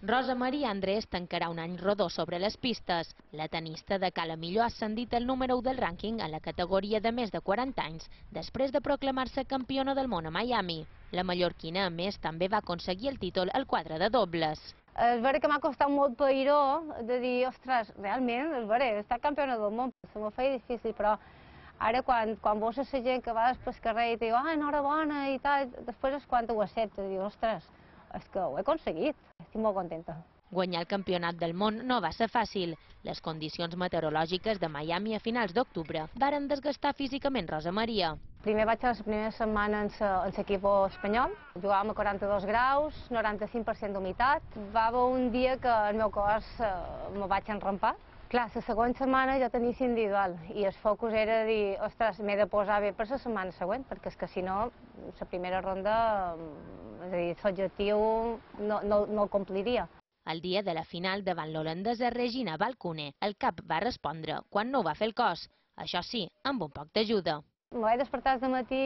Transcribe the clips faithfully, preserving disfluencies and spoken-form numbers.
Rosa Maria Andrés tancarà un any rodó sobre les pistes. La tenista de Cala Millor ha ascendit al número u del rànquing a la categoria de més de quaranta anys, després de proclamar-se campiona del món a Miami. La mallorquina, a més, també va aconseguir el títol al quadre de dobles. És vera que m'ha costat molt pairó de dir, ostres, realment, és vera, he estat campiona del món. Se m'ho feia difícil, però ara quan, quan veus la gent que va després carrer i diu, ah, enhorabona i tal, després és quan ho accepta, diu, ostres, és que ho he aconseguit, estic molt contenta. Guanyar el campionat del món no va ser fàcil. Les condicions meteorològiques de Miami a finals d'octubre varen desgastar físicament Rosa Maria. Primer vaig a la primera setmana en l'equip espanyol, jugàvem a quaranta-dos graus, noranta-cinc per cent d'humitat. Va haver un dia que el meu cos me vaig enrampar. Clar, la següent setmana ja tenia individual i el focus era dir, ostres, m'he de posar bé per la setmana següent, perquè és que si no, la primera ronda, és a dir, l'objectiu no, no, no el compliria. El dia de la final davant l'holandesa Regina Balcone, el cap va respondre quan no ho va fer el cos, això sí, amb un poc d'ajuda. Me vaig despertar de matí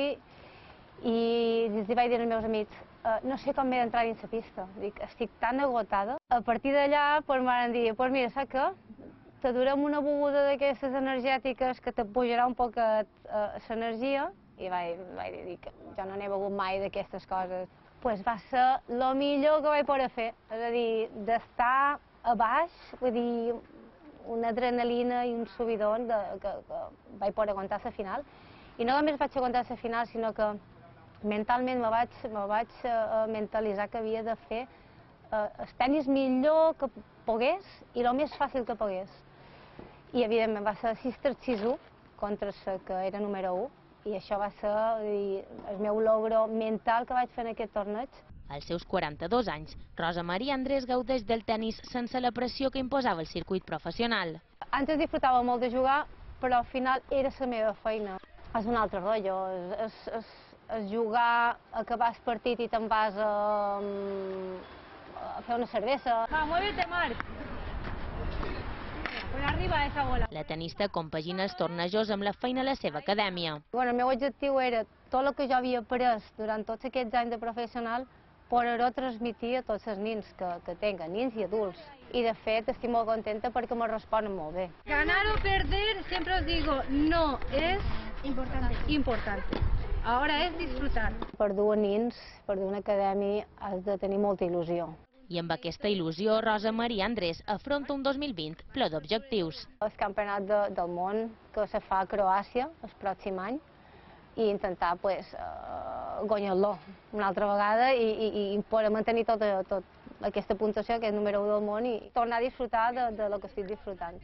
i els vaig dir als meus amics, no sé com m'he d'entrar dins la pista, dic, estic tan agotada. A partir d'allà em van dir, doncs mira, saps què? Te durem una beguda d'aquestes energètiques que te pujarà un poc l'energia i vaig, vaig dir que jo no n'he begut mai d'aquestes coses. Pues va ser el millor que vaig poder fer, és a dir, d'estar a baix, vull dir, una adrenalina i un subidon de, que, que vaig poder aguantar la final. I no només vaig aguantar la final, sinó que mentalment me vaig, me vaig uh, mentalitzar que havia de fer uh, el tenis millor que pogués i el més fàcil que pogués. I evidentment va ser sis tres sis u contra la que era número u i això va ser dir, el meu logro mental que vaig fer en aquest torneig. Als seus quaranta-dos anys, Rosa Maria Andrés gaudeix del tenis sense la pressió que imposava el circuit professional. Antes disfrutava molt de jugar, però al final era la meva feina. És un altre rotllo, és, és, és jugar, acabar el partit i te'n vas a, a fer una cervesa. Va, muévete, Marc. Por arriba esa bola. La tenista compagina els tornejos amb la feina a la seva acadèmia. Bueno, el meu objectiu era tot el que jo havia après durant tots aquests anys de professional poder-ho transmitir a tots els nins que, que tenen, nins i adults. I de fet estic molt contenta perquè me responen molt bé. Ganar o perder, siempre os digo, no es importante. importante. Ahora es disfrutar. Per dur nins, per dur una acadèmia, has de tenir molta il·lusió. I amb aquesta il·lusió, Rosa Maria Andrés afronta un dos mil vint ple d'objectius. El campionat de, del món que se fa a Croàcia el pròxim any i intentar pues, uh, guanyar-lo una altra vegada i, i, i poder mantenir tota, tot aquesta puntuació que és número u del món i tornar a disfrutar de, de lo que estic disfrutant.